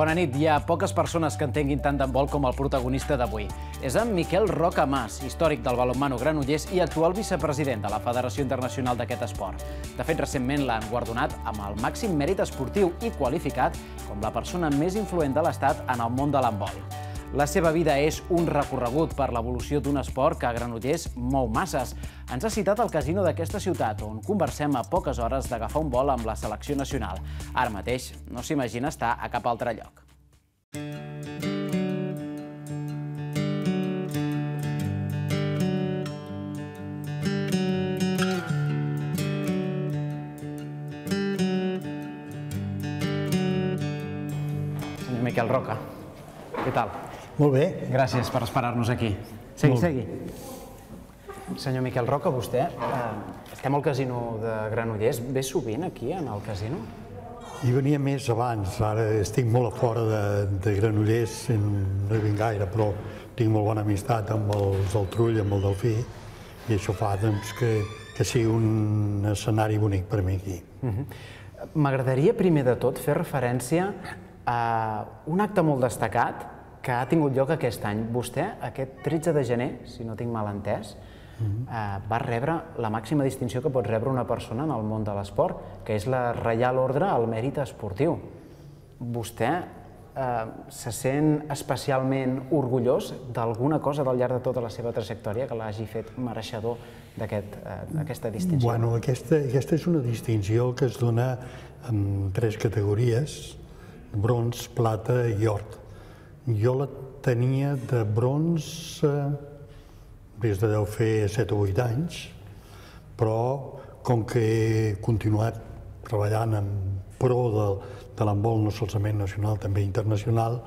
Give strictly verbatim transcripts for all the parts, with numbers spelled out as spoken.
Bona nit. Hi ha poques persones que entenguin tant d'handbol com el protagonista d'avui. És en Miquel Roca Mas, històric del balonmano Granollers i actual vicepresident de la Federació Internacional d'aquest esport. De fet, recentment l'han guardonat amb el màxim mèrit esportiu i qualificat com la persona més influent de l'Estat en el món de l'handbol. La seva vida és un recorregut per l'evolució d'un esport que a Granollers mou masses. Ens ha citat al casino d'aquesta ciutat, on conversem a poques hores d'agafar un vol amb la selecció nacional. Ara mateix no s'imagina estar a cap altre lloc. Senyor Miquel Roca, què tal? Molt bé. Gràcies per esperar-nos aquí. Segui, segui. Senyor Miquel Roca, vostè, estem al casino de Granollers. Ve sovint aquí, en el casino? Hi venia més abans. Ara estic molt a fora de Granollers, no hi vinc gaire, però tinc molt bona amistat amb els del Trull, amb el Delfí, i això fa que sigui un escenari bonic per mi aquí. M'agradaria, primer de tot, fer referència a un acte molt destacat que ha tingut lloc aquest any. Vostè, aquest tretze de gener, si no tinc mal entès, va rebre la màxima distinció que pot rebre una persona en el món de l'esport, que és la Reial Ordre al Mèrit Esportiu. Vostè se sent especialment orgullós d'alguna cosa del llarg de tota la seva trajectòria que l'hagi fet mereixedor d'aquesta distinció? Bueno, aquesta és una distinció que es dona en tres categories: bronze, plata i or. Jo la tenia de bronze des de deu fer set o vuit anys, però com que he continuat treballant en pro de l'handbol, no solament nacional, també internacional,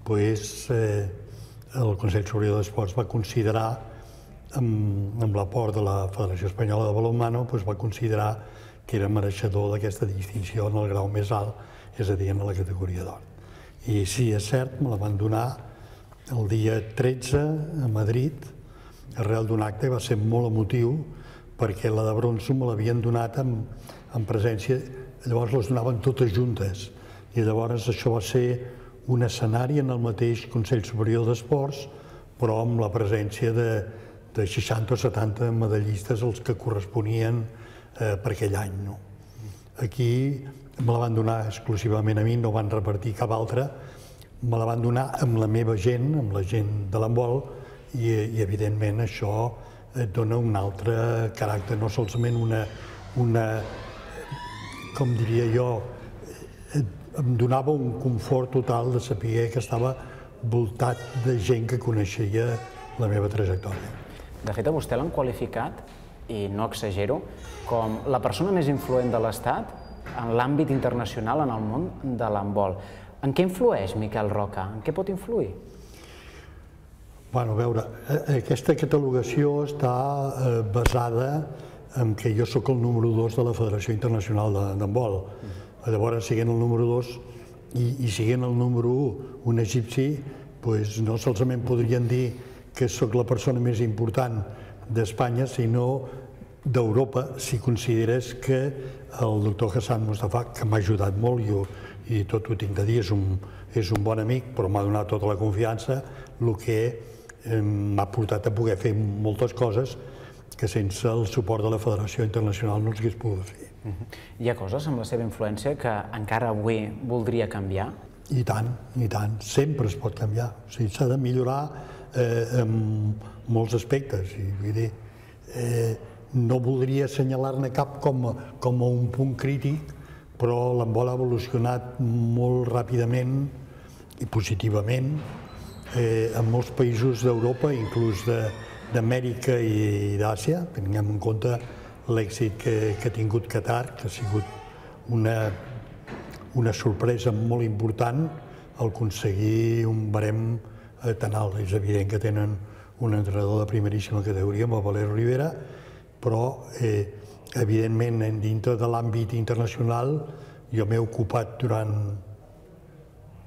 doncs el Consell Superior d'Esports va considerar, amb l'aport de la Federació Espanyola de Balonmano, va considerar que era mereixedor d'aquesta distinció en el grau més alt, és a dir, en la categoria d'or. I sí, és cert, me la van donar el dia tretze a Madrid, arrel d'un acte, va ser molt emotiu, perquè la de bronze me l'havien donat en presència, llavors les donaven totes juntes, i llavors això va ser un escenari en el mateix Consell Superior d'Esports, però amb la presència de seixanta o setanta medallistes els que corresponien per aquell any. Aquí me la van donar exclusivament a mi, no van repartir cap altra, me la van donar amb la meva gent, amb la gent de l'handbol, i evidentment això et dona un altre caràcter, no solament una, com diria jo, em donava un confort total de saber que estava voltat de gent que coneixia la meva trajectòria. De fet, a vostè l'han qualificat, i no exagero, com la persona més influent de l'Estat en l'àmbit internacional en el món de l'handbol. En què influeix Miquel Roca? En què pot influir? Bueno, a veure, aquesta catalogació està basada en que jo sóc el número dos de la Federació Internacional d'Handbol. Llavors, siguent el número dos i siguent el número un, un egipci, no solament podrien dir que sóc la persona més important d'Espanya, sinó d'Europa, si consideres que el doctor Hassan Mustafa, que m'ha ajudat molt, i tot ho tinc de dir, és un bon amic, però m'ha donat tota la confiança, el que m'ha portat a poder fer moltes coses que sense el suport de la Federació Internacional no els hagués pogut fer. Hi ha coses amb la seva influència que encara avui voldria canviar? I tant, i tant. Sempre es pot canviar. S'ha de millorar en molts aspectes. No voldria assenyalar-ne cap com a un punt crític, però l'handbol ha evolucionat molt ràpidament i positivament en molts països d'Europa, inclús d'Amèrica i d'Àsia. Tinguem en compte l'èxit que ha tingut Qatar, que ha sigut una sorpresa molt important al aconseguir un barem tan alt. És evident que tenen un entrenador de primeríssima categoria, amb el Valero Rivera, però evidentment dintre de l'àmbit internacional jo m'he ocupat durant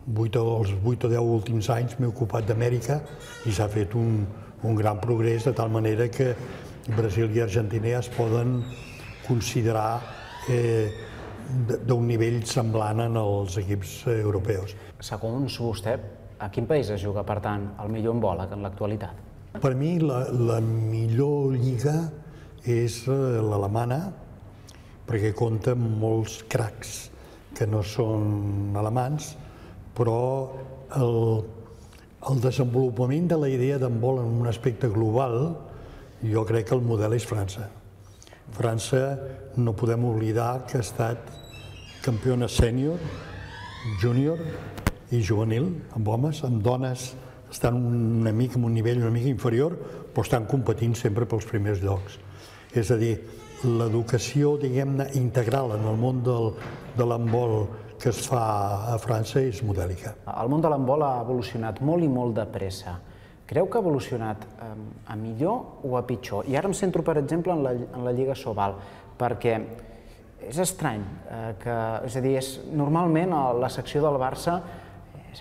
els vuit o deu últims anys, m'he ocupat d'Amèrica i s'ha fet un gran progrés, de tal manera que Brasil i Argentina ja es poden considerar d'un nivell semblant en els equips europeus. Segons vostè, a quin país es juga, per tant, el millor handbol en l'actualitat? Per mi, la, la millor lliga és l'alemana, perquè compta amb molts cracs que no són alemans, però el, el desenvolupament de la idea d'handbol en un aspecte global, jo crec que el model és França. França, no podem oblidar que ha estat campiona sènior, júnior i juvenil, amb homes, amb dones estan una mica en un nivell una mica inferior, però estan competint sempre pels primers llocs. És a dir, l'educació, diguem-ne, integral en el món del, de l'handbol que es fa a França és modèlica. El món de l'handbol ha evolucionat molt i molt de pressa. Creu que ha evolucionat a millor o a pitjor? I ara em centro, per exemple, en la, en la Lliga Sobal, perquè és estrany, eh, que, és a dir, és, normalment la secció del Barça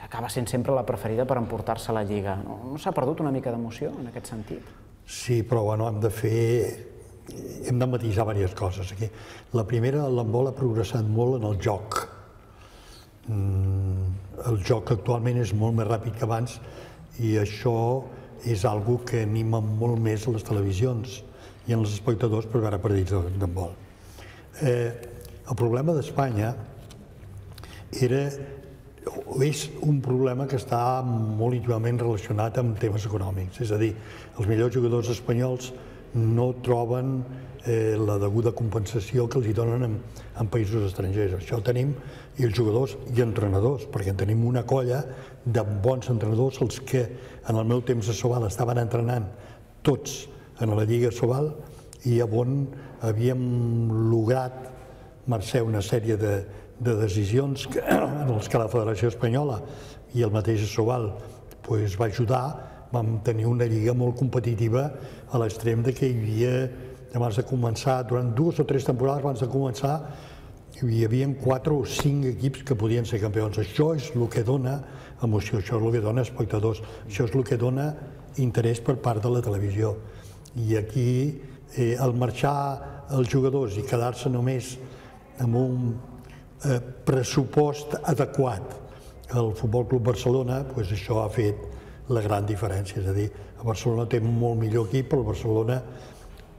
acaba sent sempre la preferida per emportar-se la Lliga. No, no s'ha perdut una mica d'emoció en aquest sentit? Sí, però bueno, hem de fer... hem de matisar diverses coses aquí. La primera, l'handbol ha progressat molt en el joc. El joc actualment és molt més ràpid que abans i això és algo que anima molt més a les televisions i en els espectadors per veure partits d'handbol. Eh, el problema d'Espanya era, és un problema que està molt íntimament relacionat amb temes econòmics. És a dir, els millors jugadors espanyols no troben eh, la deguda compensació que els hi donen en, en països estrangers. Això ho tenim, i els jugadors i entrenadors, perquè en tenim una colla de bons entrenadors, els que en el meu temps a Sobal estaven entrenant tots en la Lliga Sobal i on havíem lograt, mercè una sèrie de, de decisions que, en els que la Federació Espanyola i el mateix Sobal pues, va ajudar. Vam tenir una lliga molt competitiva a l'extrem que hi havia, abans de començar, durant dues o tres temporades abans de començar, hi havia quatre o cinc equips que podien ser campions. Això és el que dona emoció, això és el que dona espectadors, això és el que dona interès per part de la televisió. I aquí, eh, al marxar els jugadors i quedar-se només amb un eh, pressupost adequat al Futbol Club Barcelona, pues això ha fet la gran diferència. És a dir, a Barcelona té un molt millor equip, però el Barcelona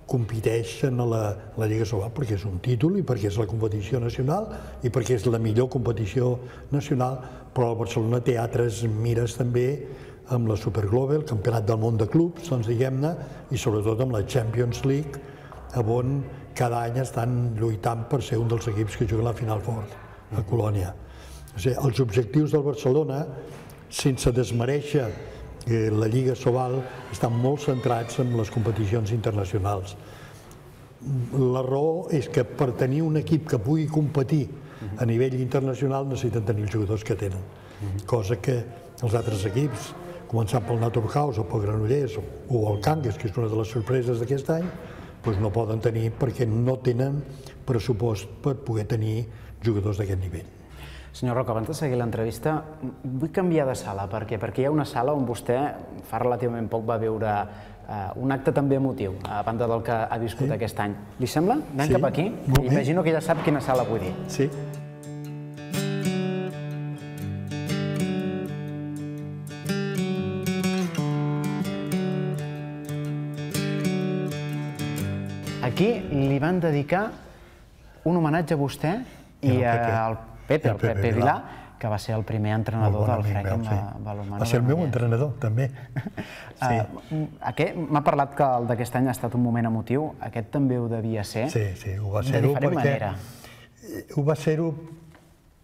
competeix en la, la Lliga Sobal perquè és un títol i perquè és la competició nacional i perquè és la millor competició nacional, però el Barcelona té altres mires també amb la Superglobe, el Campionat del Món de Clubs, doncs diguem-ne, i sobretot amb la Champions League, on cada any estan lluitant per ser un dels equips que juguen a la Final Four, a Colònia. O sigui, els objectius del Barcelona, sense desmereixer la Lliga Sobal, estan molt centrats en les competicions internacionals. La raó és que per tenir un equip que pugui competir a nivell internacional necessiten tenir els jugadors que tenen, cosa que els altres equips, començant pel Naturhaus o pel Granollers o el Cangas, que és una de les sorpreses d'aquest any, no poden tenir perquè no tenen pressupost per poder tenir jugadors d'aquest nivell. Senyor Roca, abans de seguir l'entrevista, vull canviar de sala, perquè perquè hi ha una sala on vostè fa relativament poc va veure un acte també emotiu, a banda del que ha viscut aquest any. Li sembla? Anem cap aquí? Imagino que ja sap quina sala vull dir. Sí. Aquí li van dedicar un homenatge a vostè i al Pepe, el Pepe Vilà, que va ser el primer entrenador del F R E C en balonmano. Va ser el meu entrenador, també. M'ha parlat que el d'aquest any ha estat un moment emotiu. Aquest també ho devia ser? Sí, sí, ho va ser-ho. De diferent manera. Ho va ser-ho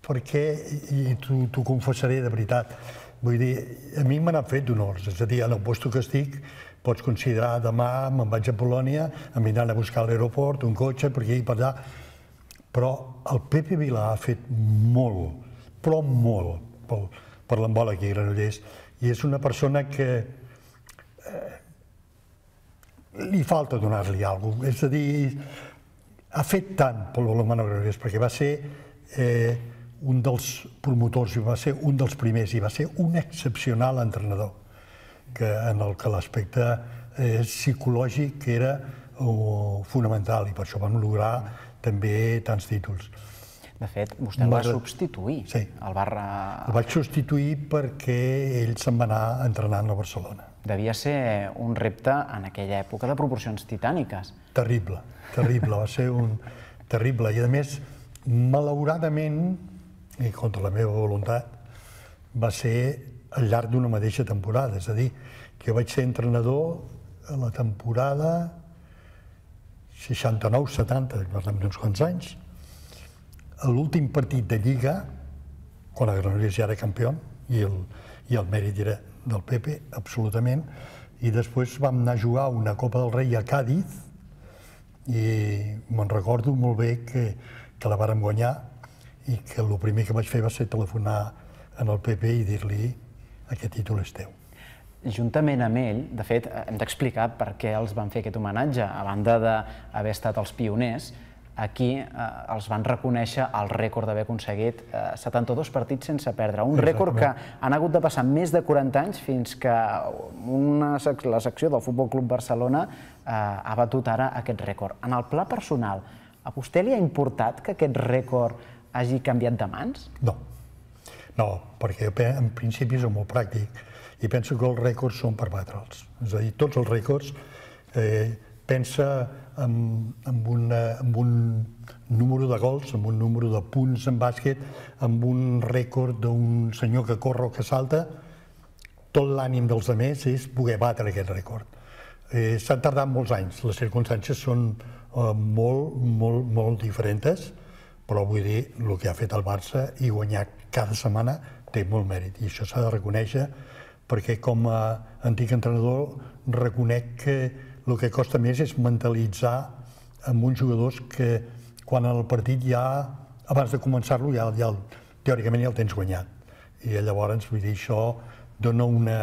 perquè, i t'ho confessaré de veritat, vull dir, a mi m'han fet d'honors. És a dir, en el lloc que estic, pots considerar demà me'n vaig a Polònia, em vindran a buscar a l'aeroport, un cotxe, per aquí i per allà. Però el Pepe Vilà ha fet molt, però molt, per l'handbol aquí a Granollers. I és una persona que li falta donar-li alguna cosa. És a dir, ha fet tant pel balonmano Granollers, perquè va ser un dels promotors, i va ser un dels primers, i va ser un excepcional entrenador, en el que l'aspecte psicològic era fonamental, i per això vam lograr també tants títols. De fet, vostè el va substituir. Sí, el vaig substituir perquè ell se'n va anar entrenant a Barcelona. Devia ser un repte en aquella època de proporcions titàniques. Terrible, terrible, va ser un terrible. I a més, malauradament, i contra la meva voluntat, va ser al llarg d'una mateixa temporada. És a dir, que jo vaig ser entrenador a la temporada seixanta-nou setanta, parlem d'uns quants anys. A l'últim partit de Lliga, quan el Granollers ja era campió, i el, i el mèrit era del Pepe, absolutament, i després vam anar a jugar una Copa del Rei a Càdiz, i me'n recordo molt bé que, que la vàrem guanyar, i que el primer que vaig fer va ser telefonar en el Pepe i dir-li aquest títol és teu. Juntament amb ell, de fet, hem d'explicar per què els van fer aquest homenatge. A banda d'haver estat els pioners, aquí els van reconèixer el rècord d'haver aconseguit setanta-dos partits sense perdre. Un rècord que han hagut de passar més de quaranta anys fins que la secció del Futbol Club Barcelona ha batut ara aquest rècord. En el pla personal, a vostè li ha importat que aquest rècord hagi canviat de mans? No, no, perquè en principi és molt pràctic i penso que els rècords són per batre'ls. És a dir, tots els rècords, pensa en un número de gols, en un número de punts en bàsquet, en un rècord d'un senyor que corre o que salta, tot l'ànim dels altres és poder batre aquest rècord. S'han tardat molts anys, les circumstàncies són molt, molt, molt diferents, però vull dir, el que ha fet el Barça i guanyar cada setmana té molt mèrit, i això s'ha de reconèixer, perquè com a antic entrenador reconec que el que costa més és mentalitzar amb uns jugadors que quan el partit ja, abans de començar-lo, ja, ja, teòricament ja el tens guanyat. I llavors, vull dir, això dona una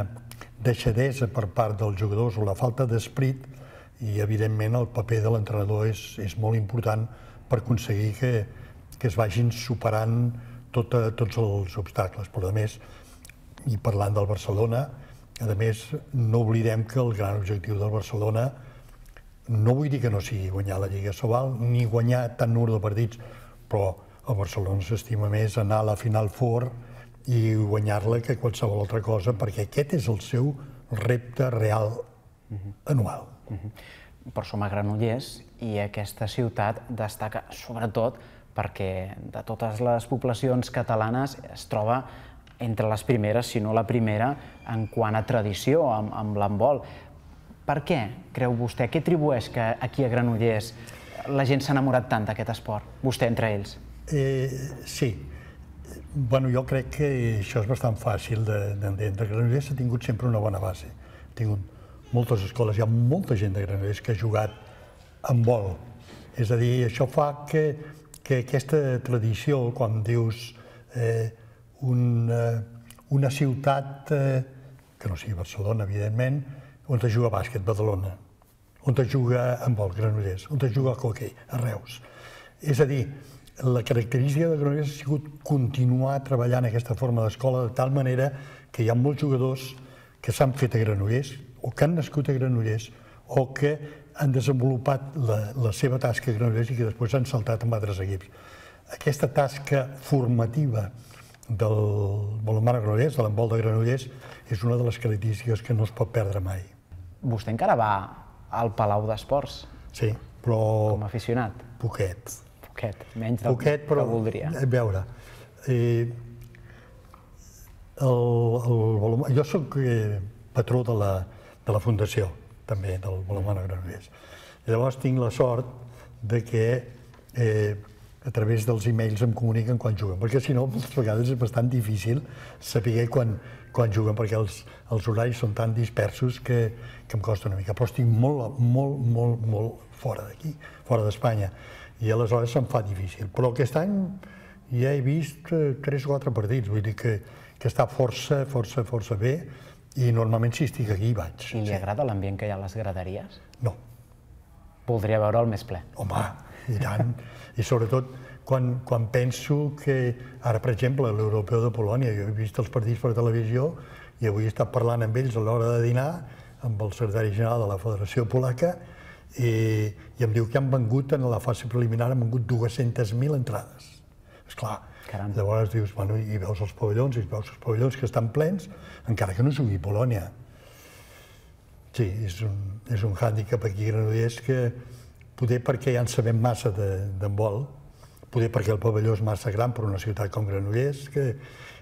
deixadesa per part dels jugadors o la falta d'esperit, i evidentment el paper de l'entrenador és, és molt important per aconseguir que, que es vagin superant tot, tots els obstacles. Però a més, i parlant del Barcelona, a més, no oblidem que el gran objectiu del Barcelona, no vull dir que no sigui guanyar la Lliga Sobal, ni guanyar tant número de partits, però el Barcelona s'estima més anar a la Final Four i guanyar-la que qualsevol altra cosa, perquè aquest és el seu repte real anual. Però som a Granollers i aquesta ciutat destaca sobretot perquè de totes les poblacions catalanes es troba entre les primeres, si no la primera, en quant a tradició amb l'handbol. Per què, creu vostè? Què atribueix que aquí a Granollers la gent s'ha enamorat tant d'aquest esport? Vostè entre ells. Sí. Bueno, jo crec que això és bastant fàcil d'entendre. Granollers ha tingut sempre una bona base. Ha tingut moltes escoles, hi ha molta gent de Granollers que ha jugat handbol. És a dir, això fa que aquesta tradició, quan dius una ciutat que no sigui Barcelona, evidentment, on es juga bàsquet, Badalona, on es juga handbol, Granollers, on es juga hoquei, a Reus. És a dir, la característica de Granollers ha sigut continuar treballant aquesta forma d'escola de tal manera que hi ha molts jugadors que s'han fet a Granollers o que han nascut a Granollers o que han desenvolupat la seva tasca a Granollers i que després han saltat amb altres equips. Aquesta tasca formativa del balonmano Granollers, de l'handbol de Granollers, és una de les característiques que no es pot perdre mai. Vostè encara va al Palau d'Esports? Sí, però... Com a aficionat? Poquet. Poquet, menys del que voldria. A veure, jo soc patró de la fundació, també, del balonmano Granollers. Llavors tinc la sort de que a través dels e-mails em comuniquen quan juguen, perquè si no, moltes vegades és bastant difícil saber quan juguen, perquè els horaris són tan dispersos que em costa una mica. Però estic molt, molt, molt, molt fora d'aquí, fora d'Espanya, i aleshores se'm fa difícil. Però aquest any ja he vist tres o quatre partits, vull dir que està força, força, força bé, i normalment si estic aquí hi vaig. I li agrada l'ambient que hi ha a les graderies? No. Voldria veure'l més ple? Home, i tant. I sobretot quan penso que ara, per exemple, a l'Europeu de Polònia, jo he vist els partits per televisió i avui he estat parlant amb ells a l'hora de dinar, amb el secretari general de la Federació Polaca, i em diu que han vengut, en la fase preliminar, han vengut dues-centes mil entrades. Esclar, llavors dius, bueno, i veus els pavellons, i veus els pavellons que estan plens, encara que no jugui Polònia. Sí, és un, és un hàndicap aquí a Granollers que poder perquè ja en sabem massa d'handbol, poder perquè el pavelló és massa gran per una ciutat com Granollers, que,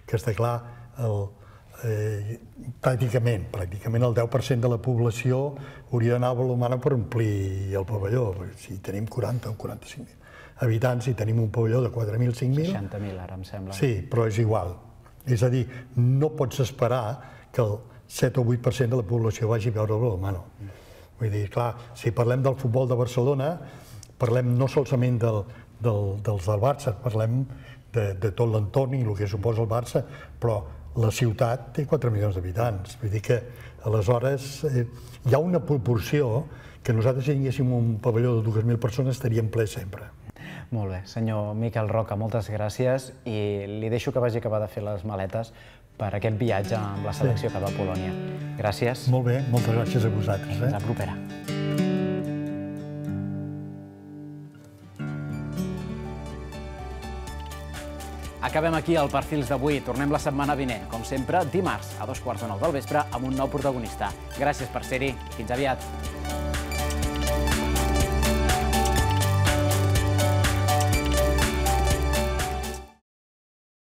que està clar, el, eh, pràcticament, pràcticament el deu per cent de la població hauria d'anar a Balomana per omplir el pavelló. Si tenim quaranta o quaranta-cinc mil habitants i tenim un pavelló de quatre mil, cinc mil... seixanta mil, ara em sembla. Sí, però és igual. És a dir, no pots esperar que el set o vuit per cent de la població vagi a veure el balonmano. Vull dir, clar, si parlem del futbol de Barcelona, parlem no solament del, del, dels del Barça, parlem de, de tot l'entorn i el que suposa el Barça, però la ciutat té quatre milions d'habitants. Vull dir que, aleshores, eh, hi ha una proporció que nosaltres, si tinguéssim un pavelló de dues mil persones, estaríem ple sempre. Molt bé. Senyor Miquel Roca, moltes gràcies i li deixo que vagi a acabar de fer les maletes per aquest viatge amb la selecció cap a Polònia. Gràcies. Molt bé, moltes gràcies a vosaltres. Fins la propera. Acabem aquí el Perfils d'avui. Tornem la setmana vinent, com sempre, dimarts, a dos quarts de nou del vespre, amb un nou protagonista. Gràcies per ser-hi. Fins aviat.